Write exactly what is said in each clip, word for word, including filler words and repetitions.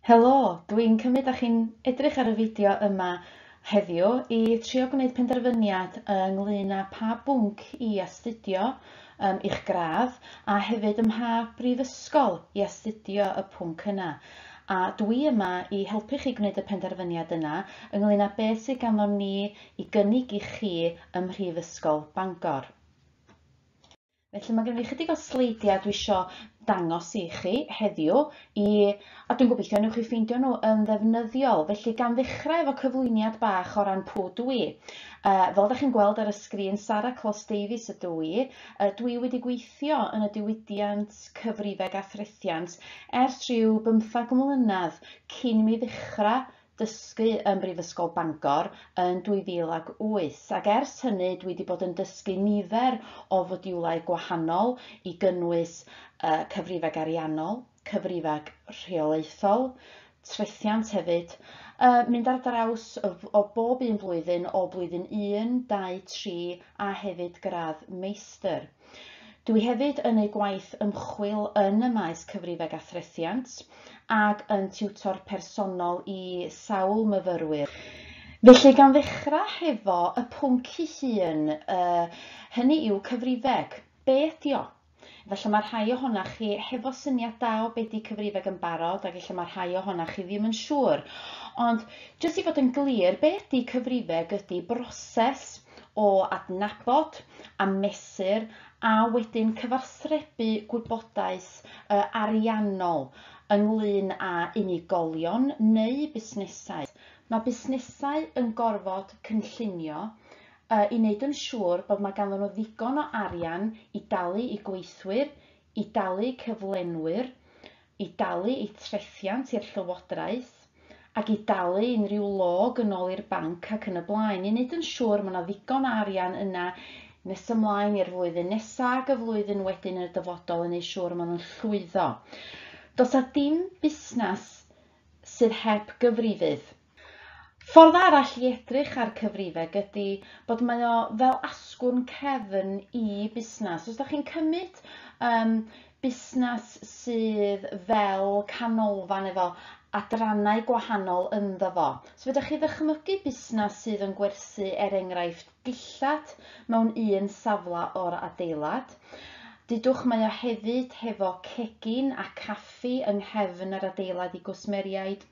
Helo, dwi'n cymryd â chi'n edrych ar y fideo yma heddiw i trio gwneud penderfyniad ynglyn â pa bwnc i astudio um, i'ch gradd a hefyd ym mha brifysgol i astudio y pwnc yna. A dwi yma i helpu chi gwneud y penderfyniad yna ynglyn â beth sydd ganddom ni i gynnig i chi ym Mhrifysgol Bangor. Felly mae gen i chydig o sleidiau dwi isio dangos i chi heddiw i, a dwi'n gobeithio newch chi ffeindio nhw yn ddefnyddiol. Felly gan ddechrau efo cyflwyniad bach o ran pwy dwi. Uh, fel ydych chi'n gweld ar y sgrin, Sara Clos Davies ydw i. Uh, dwi wedi gweithio yn y diwydiant cyfrifeg a threthiant ers rhyw bymthag mlynedd cyn mi ddechrau dysgu ym Mhrifysgol Bangor yn dwy fil ag wyth, ac ers hynny dwi wedi bod yn dysgu nifer o fodiwlau gwahanol i gynnwys uh, cyfrifeg ariannol, cyfrifeg rheolaethol, trethiant hefyd, uh, mynd ar draws o, o bob un flwyddyn o blwyddyn un, dau, tri a hefyd gradd meistr. Dwi hefyd yn ei gwaith ymchwil yn y maes cyfrifeg a threthiant ac yn tiwtor personol i sawl myfyrwyr. Felly gan ddechrau hefo y pwnc ei hun, uh, hynny yw cyfrifeg. Be ydi o? Felly mae rhai ohonoch chi hefo syniad da o be di cyfrifeg yn barod ac ella mae rhai ohonoch chi ddim yn siŵr. Ond jyst i fod yn glir, be ydi cyfrifeg ydi broses o adnabod a mesur a wedyn cyfathrebu gwybodaeth uh, ariannol ynglyn â unigolion neu busnesau. Mae busnesau yn gorfod cynllunio uh, i wneud yn siŵr bod mae ganddyn nhw ddigon o arian i dalu i gweithwyr, i dalu cyflenwyr, i dalu i trethiant i'r llywodraeth, ac i dalu unrhyw log yn ôl i'r banc ac yn y blaen, i wneud yn siŵr mae yna ddigon o arian yna nes ymlaen i'r flwyddyn nesaf ac y flwyddyn wedyn yn y dyfodol yn ei siŵr maen nhw'n llwyddo. Does 'na dim busnes sydd heb gyfrifydd. Ffordd arall i edrych ar cyfrifeg ydy bod mae o fel asgwrn cefn i busnes. Os ydych chi'n cymryd um, busnes sydd fel canolfan efo adrannau gwahanol ynddo fo. So fedrwch chi ddychmygu busnes sydd yn gwerthu er enghraifft dillad mewn un safle o'r adeilad. Dudwch mae o hefyd hefo cegin a caffi yng nghefn yr adeilad i gwsmeriaid.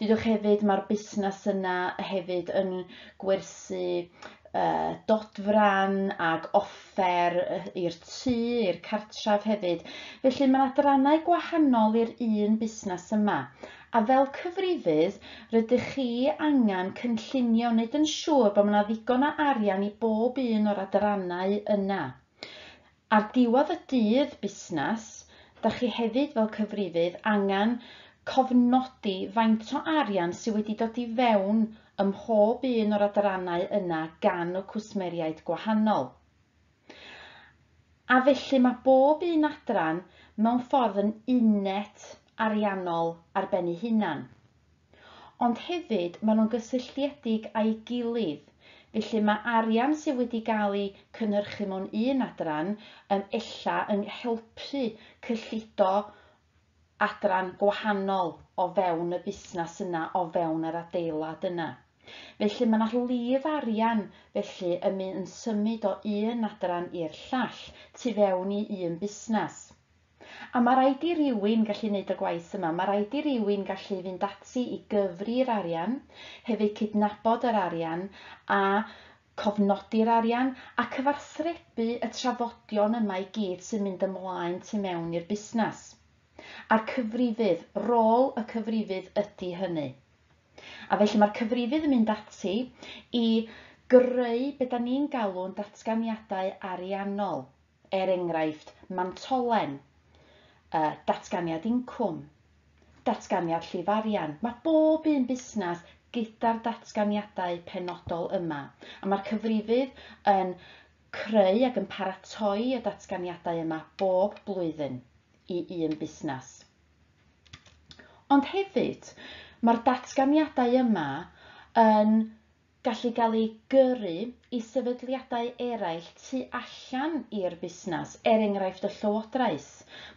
Dudwch hefyd mae'r busnes yna hefyd yn gwerthu uh, dodfran ag offer i'r tŷ, i'r cartref hefyd. Felly mae adrannau gwahanol i'r un busnes yma. A fel cyfrifydd, rydych chi angen cynllunio wneud yn siŵr bod yna ddigon o arian i bob un o'r adrannau yna. Ar diwedd y dydd busnes, dach chi hefyd fel cyfrifydd angen cofnodi faint o arian sydd wedi dod i fewn ym mhob un o'r adrannau yna gan y cwsmeriaid gwahanol. A felly mae bob un adran mewn ffordd yn uned ariannol ar ben ei hunan. Ond hefyd maen nhw'n gysylltiedig â'i gilydd. Felly mae arian sydd wedi cael ei cynhyrchu mewn un adran yn ella yn helpu cyllido adran gwahanol o fewn y busnes yna, o fewn yr adeilad yna. Felly mae yna lif arian felly yn mynd yn symud o un adran i'r llall tu fewn i un busnes. A mae rhaid i rywun gallu gwneud y gwaith yma, mae rhaid i rywun gallu fynd ati i gyfri'r arian, hefyd cydnabod yr arian a cofnodi'r arian a cyfathrebu y trafodion yma i gyd sy'n mynd ymlaen tu mewn i'r busnes. A'r cyfrifydd, rôl y cyfrifydd ydy hynny. A felly mae'r cyfrifydd yn mynd ati i greu be da ni'n galw'n datganiadau ariannol, er enghraifft mantolen, Uh, datganiad incwm, datganiad llif arian. Mae bob un busnes gyda'r datganiadau penodol yma. A mae'r cyfrifydd yn creu ac yn paratoi y datganiadau yma bob blwyddyn i un busnes. Ond hefyd, mae'r datganiadau yma yn gallu gael ei gyrru i sefydliadau eraill tu allan i'r busnes, er enghraifft y llywodraeth.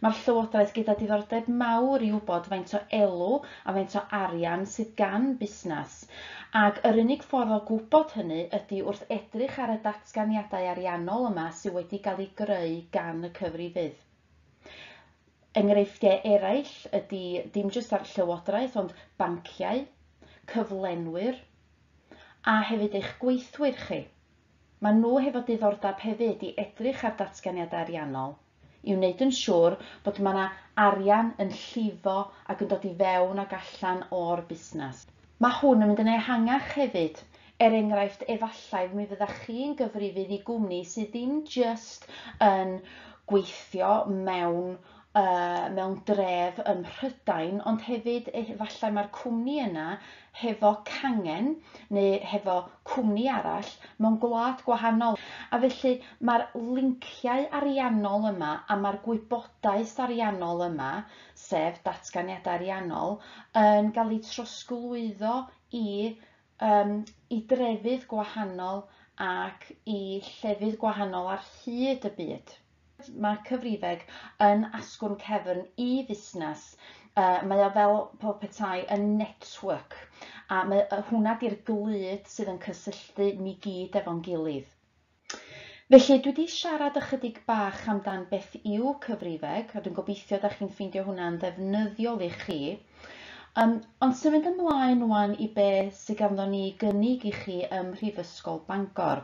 Mae'r llywodraeth gyda diddordeb mawr i wybod faint o elw a faint o arian sydd gan busnes. Ac yr unig ffordd o gwybod hynny ydy wrth edrych ar y datganiadau ariannol yma sydd wedi cael ei greu gan y cyfrifydd. Enghreifftiau eraill ydy dim jyst ar llywodraeth, ond banciau, cyflenwyr, a hefyd eich gweithwyr chi. Maen nhw hefo diddordeb hefyd i edrych ar datganiadau ariannol, i wneud yn siŵr bod mae yna arian yn llifo ac yn dod i fewn ac allan o'r busnes. Mae hwn yn mynd yn ehangach hefyd. Er enghraifft, efallai mi fyddach chi'n gyfrifydd i gwmni sydd ddim jyst yn gweithio mewn Uh, mewn dref ym Mhrydain, ond hefyd efallai mae'r cwmni yna hefo cangen neu hefo cwmni arall mewn gwlad gwahanol. A felly mae'r linciau ariannol yma a mae'r gwybodaeth ariannol yma, sef datganiadau ariannol, yn cael eu trosglwyddo i, um, i drefydd gwahanol ac i llefydd gwahanol ar hyd y byd. Mae cyfrifeg yn asgwrn cefn i fusnes. Uh, mae o fel pob petai yn network, a mae, hwnna di'r glud sydd yn cysylltu ni gyd efo'n gilydd. Felly dwi wedi siarad ychydig bach amdan beth yw cyfrifeg, a dwi'n gobeithio da chi'n ffeindio hwnna'n ddefnyddiol i chi. Um, ond symud ymlaen wan i be sydd ganddo ni gynnig i chi ym Mhrifysgol Bangor.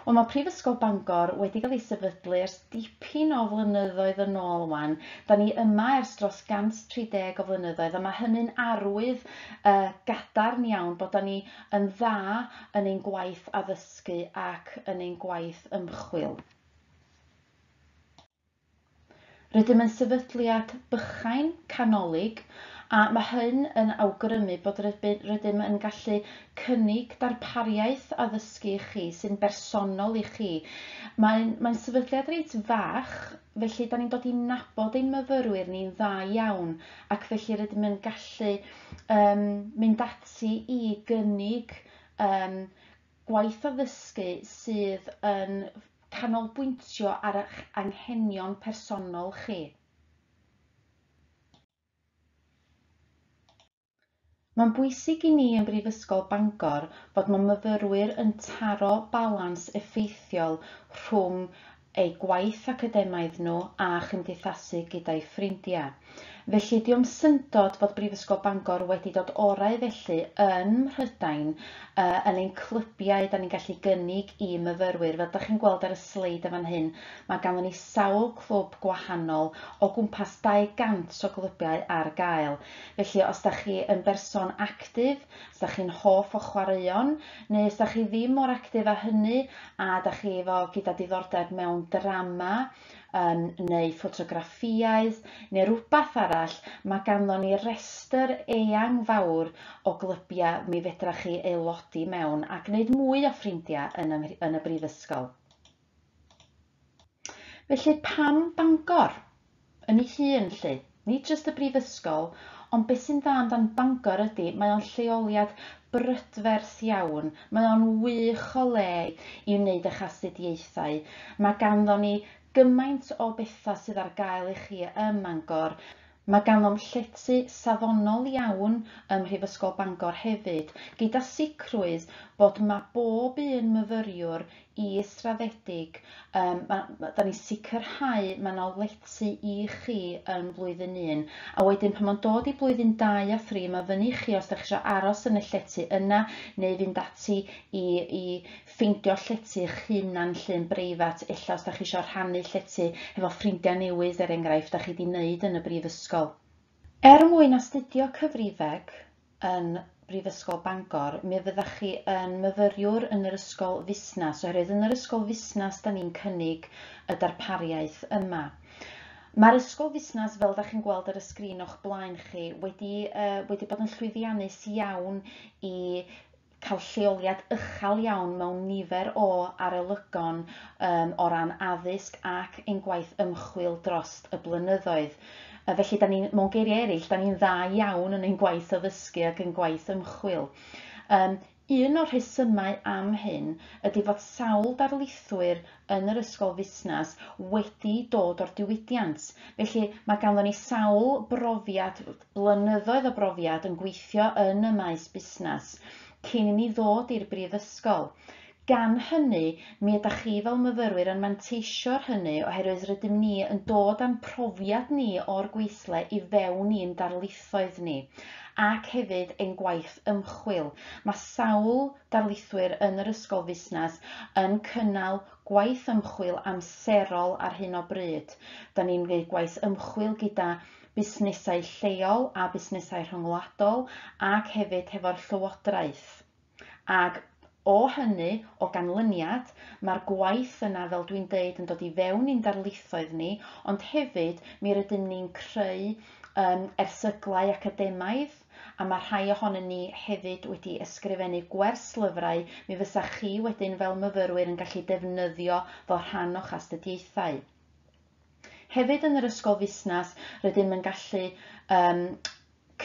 Wel, mae Prifysgol Bangor wedi cael ei sefydlu ers dipyn o flynyddoedd yn ôl wan. Da ni yma ers dros cant tri deg o flynyddoedd, a mae hynny'n arwydd uh, gadarn iawn bod da ni yn dda yn ein gwaith addysgu ac yn ein gwaith ymchwil. Rydym yn sefydliad bychain canolig, a mae hyn yn awgrymu bod rydym yn gallu cynnig darpariaeth addysgu i chi sy'n bersonol i chi. Mae'n mae sefydliad reit fach, felly da ni'n dod i nabod ein myfyrwyr ni'n dda iawn, ac felly rydym yn gallu um, mynd ati i gynnig um, gwaith addysgu sydd yn canolbwyntio ar eich anghenion personol chi. Mae'n bwysig i ni yn Brifysgol Bangor fod mae myfyrwyr yn taro balans effeithiol rhwng eu gwaith academaidd nhw a chymdeithasu gyda'i ffrindiau. Felly, dio'm syndod fod Brifysgol Bangor wedi dod orau felly yn Mhrydain uh, yn ein clybiau da ni'n gallu gynnig i myfyrwyr. Fel da chi'n gweld ar y sleid yn fan hyn, mae ganddo ni sawl clwb gwahanol o gwmpas dau gant o glybiau ar gael. Felly, os da chi yn berson actif, os da chi'n hoff o chwaraeon, neu os da chi ddim mor actif â hynny, a da chi efo gyda diddordeb mewn drama, um, neu ffotograffiaeth, neu rhywbeth arall, mae ganddo ni restr eang fawr o glybiau mi fedra chi aelodi mewn a gwneud mwy o ffrindiau yn y, yn y brifysgol. Felly pam Bangor? Yn ei hun lly, nid jyst y brifysgol, ond beth sy'n dda amdan Bangor ydy, mae o'n lleoliad brydferth iawn, mae o'n wych o le i wneud eich astudiaethau. Mae ganddo ni gymaint o bethau sydd ar gael i chi ym Mangor. Mae ganddo'n llety safonol iawn ym Mhrifysgol Bangor hefyd, gyda sicrwydd bod mae bob un myfyriwr israddedig, um, ma, ma, da ni'n sicrhau mae yna lety i chi yn blwyddyn un. A wedyn pan mae'n dod i blwyddyn dau a thri, mae fyny chi os da chi eisiau aros yn y llety yna, neu fynd ati i, i ffeindio llety eich hunan lle'n breifat, ella os da chi eisiau rhannu llety hefo ffrindiau newydd er enghraifft da chi wedi wneud yn y brifysgol. Er mwyn astudio cyfrifeg yn Brifysgol Bangor, mi fyddach chi yn myfyriwr yn yr ysgol fusnes, oherwydd yn yr ysgol fusnes da ni'n cynnig y darpariaeth yma. Mae'r ysgol fusnes, fel da chi'n gweld ar y sgrin o'ch blaen chi, wedi, uh, wedi bod yn llwyddiannus iawn i cael lleoliad uchel iawn mewn nifer o arolygon um, o ran addysg ac ein gwaith ymchwil dros y blynyddoedd. Felly, da ni, mewn geiriau eraill, da ni'n dda iawn yn ein gwaith addysgu ac yn gwaith ymchwil. Um, Un o'r rhesymau am hyn ydy fod sawl darlithwyr yn yr ysgol fusnes wedi dod o'r diwydiant. Felly mae ganddon ni sawl brofiad, blynyddoedd o brofiad yn gweithio yn y maes busnes cyn i ni ddod i'r brifysgol. Gan hynny, mi ydych chi fel myfyrwyr yn manteisio ar hynny oherwydd rydym ni yn dod â'n profiad ni o'r gweithle i fewn i'n darlithoedd ni ac hefyd ein gwaith ymchwil. Mae sawl darlithwyr yn yr ysgol fusnes yn cynnal gwaith ymchwil amserol ar hyn o bryd. Da ni'n gwneud gwaith ymchwil gyda busnesau lleol a busnesau rhyngwladol ac hefyd hefo'r llywodraeth. Ac o hynny, o ganlyniad, mae'r gwaith yna, fel dwi'n deud, yn dod i fewn i'n darlithoedd ni, ond hefyd mi rydym ni'n creu um, erthyglau academaidd, a mae rhai ohonyn ni hefyd wedi ysgrifennu gwerslyfrau mi fysa chi wedyn fel myfyrwyr yn gallu defnyddio fel rhan o'ch astudiaethau. Hefyd yn yr ysgol fusnes, rydym yn gallu um,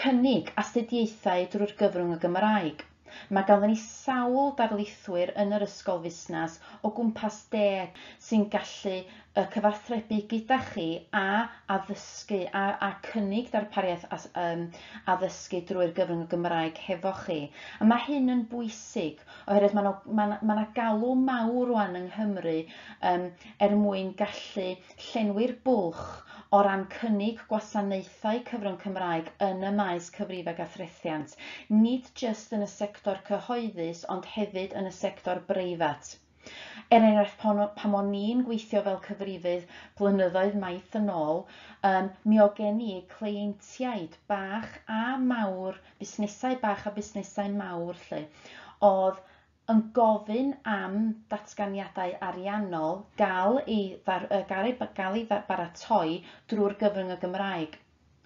cynnig astudiaethau drwy'r gyfrwng y Gymraeg. Mae ganddon ni sawl darlithwyr yn yr ysgol fusnes o gwmpas deg sy'n gallu uh, cyfathrebu gyda chi a addysgu a, a cynnig darpariaeth as, um, addysgu drwy'r gyfrwng y Gymraeg hefo chi. A mae hyn yn bwysig oherwydd mae 'na ma' 'na ma' 'na galw mawr rŵan yng Nghymru um, er mwyn gallu llenwi'r bwlch o ran cynnig gwasanaethau cyfrwng Cymraeg yn y maes cyfrifeg a threthiant, nid jyst yn y sector cyhoeddus ond hefyd yn y sector breifat. Er enghraifft, pan, pan o'n i'n gweithio fel cyfrifydd blynyddoedd maith yn ôl, um, mi oedd gen i cleientiaid bach a mawr, busnesau bach a busnesau mawr 'lly, oedd yn gofyn am datganiadau ariannol gael ei, ddar, gael ei, gael ei baratoi drwy'r gyfrwng y Gymraeg.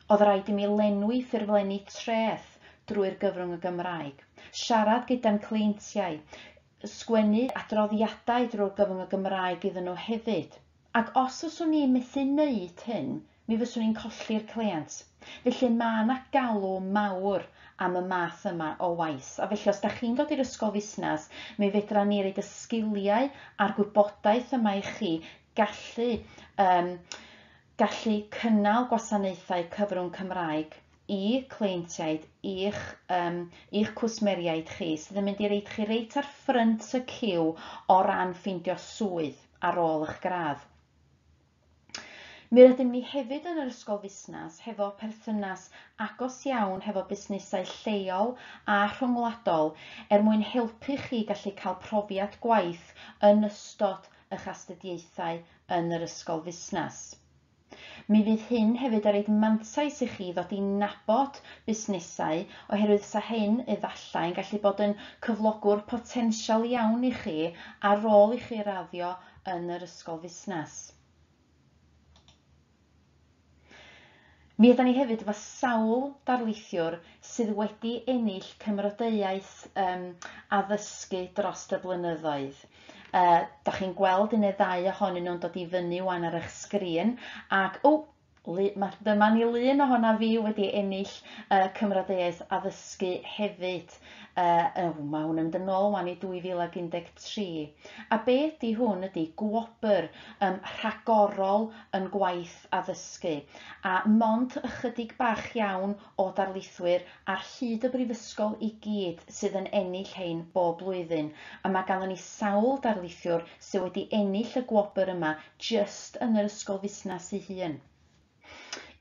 Oedd rhaid i mi lenwi ffurflenni treth drwy'r gyfrwng y Gymraeg, siarad gyda'n cleientiaid, sgwennu adroddiadau drwy'r gyfrwng y Gymraeg iddyn nhw hefyd. Ac os fyswn i'n methu wneud hyn, mi fyswn i'n colli'r cleient. Felly mae yna galw mawr am y math yma o waith. A felly os da chi'n dod i'r ysgol fusnes, mi fedra ni roid y sgiliau a'r gwybodaeth yma i chi gallu, um, gallu cynnal gwasanaethau cyfrwng Cymraeg i cleientiaid, i'ch, um, i'ch cwsmeriaid chi, sydd yn mynd i roid chi reit ar ffrynt y ciw o ran ffeindio swydd ar ôl eich gradd. Mi rydym ni hefyd yn yr ysgol fusnes hefo perthynas agos iawn hefo busnesau lleol a rhyngwladol er mwyn helpu chi gallu cael profiad gwaith yn ystod eich astudiaethau yn yr ysgol fusnes. Mi fydd hyn hefyd yn rhoid mantais i chi ddod i nabod busnesau oherwydd sa hyn efallai yn gallu bod yn cyflogwr potensial iawn i chi ar ôl i chi raddio yn yr ysgol fusnes. Mi ydan ni hefyd efo sawl darlithiwr sydd wedi ennill cymrodeiaeth um, addysgu dros y blynyddoedd. Uh, da chi'n gweld un neu ddau ohonyn nhw'n dod i fyny wan ar eich sgrin ac o, ma, dyma ni lun ohona fi wedi ennill uh, cymrodeiaeth addysgu hefyd. Uh, oh, mae hwn yn mynd yn ôl wan i dwy fil ag un deg tri. A be ydy hwn ydy gwobr um, rhagorol yn gwaith addysgu. A mond ychydig bach iawn o darlithwyr ar hyd y brifysgol i gyd sydd yn ennill hein bob blwyddyn. A mae ganddon ni sawl darlithiwr sydd wedi ennill y gwobr yma jyst yn yr ysgol fusnes ei hun.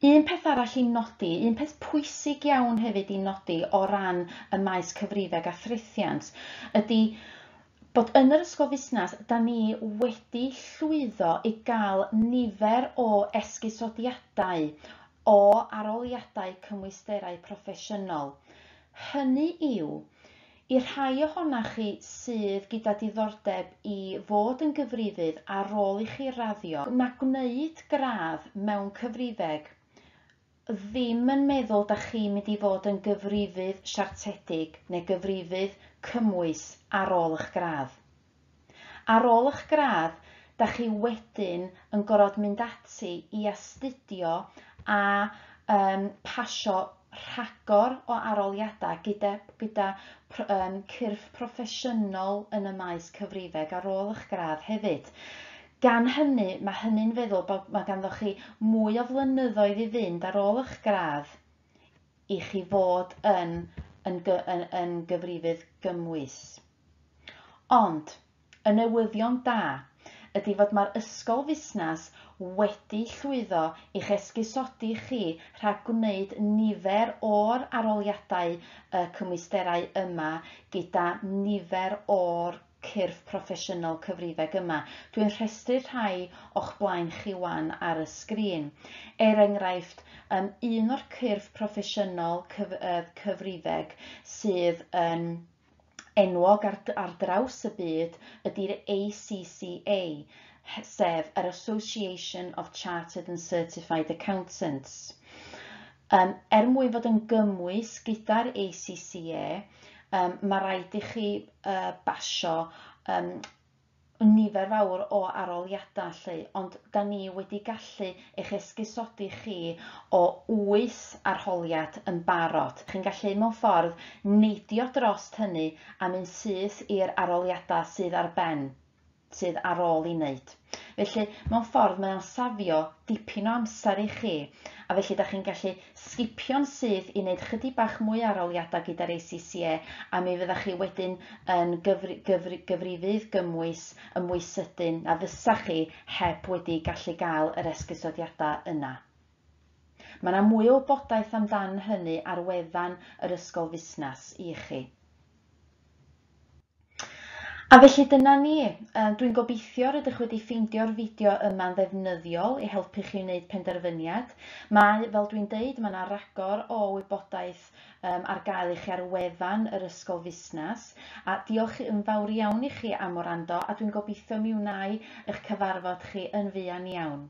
Un peth arall i nodi, un peth pwysig iawn hefyd i nodi o ran y maes cyfrifeg a threthiant ydy bod yn yr ysgol fusnes, da ni wedi llwyddo i gael nifer o esgusodiadau o arholiadau cymwysterau proffesiynol. Hynny yw, i'r rhai ohonoch chi sydd gyda diddordeb i fod yn gyfrifydd ar ôl i chi raddio, mae gwneud gradd mewn cyfrifeg ddim yn meddwl da chi'n mynd i fod yn gyfrifydd siartedig neu gyfrifydd cymwys ar ôl eich gradd. Ar ôl eich gradd, da chi wedyn yn gorfod mynd ati i astudio a um, pasio rhagor o arholiadau gyda, gyda um, cyrff proffesiynol yn y maes cyfrifeg ar ôl eich gradd hefyd. Gan hynny, mae hynny'n feddwl bod mae ganddo chi mwy o flynyddoedd i fynd ar ôl eich gradd i chi fod yn, yn, yn, yn gyfrifydd gymwys. Ond, y newyddion da ydy fod mae'r ysgol fusnes wedi llwyddo i'ch esgusodi chi rhag gwneud nifer o'r arholiadau y cymwysterau yma gyda nifer o'r cyrff proffesiynol cyfrifeg yma. Dwi'n rhestru rhai o'ch blaen chi wan ar y sgrin. Er enghraifft, um, un o'r cyrff proffesiynol cyf uh, cyfrifeg sydd yn enwog ar, ar draws y byd ydy'r A C C A, sef yr Association of Chartered and Certified Accountants. Um, er mwyn fod yn gymwys gyda'r A C C A, um, mae rhaid i chi uh, basio um, nifer fawr o arholiadau lly, ond da ni wedi gallu eich esgusodi chi o wyth arholiad yn barod. Chi'n gallu mewn ffordd neidio drost hynny a mynd syth i'r arholiadau sydd ar ben, sydd ar ôl i wneud. Felly, mewn ffordd mae o'n safio dipyn o amser i chi, a felly da chi'n gallu sgipio'n syth i wneud chydig bach mwy arholiadau gyda'r A C C A, a mi fyddach chi wedyn yn gyfri, gyfri, gyfrifydd gymwys yn mwy sydyn na fysa chi heb wedi gallu gael yr esgusodiadau yna. Mae yna mwy o wybodaeth amdan hynny ar wefan yr Ysgol Fusnes i chi. A felly dyna ni. Dwi'n gobeithio rydych wedi ffeindio'r fideo yma'n ddefnyddiol i helpu chi wneud penderfyniad. Mae, fel dwi'n deud, mae yna ragor o wybodaeth um, ar gael i chi ar wefan yr Ysgol Fusnes. A diolch yn fawr iawn i chi am wrando, a dwi'n gobeithio mi wnai eich cyfarfod chi yn fuan iawn.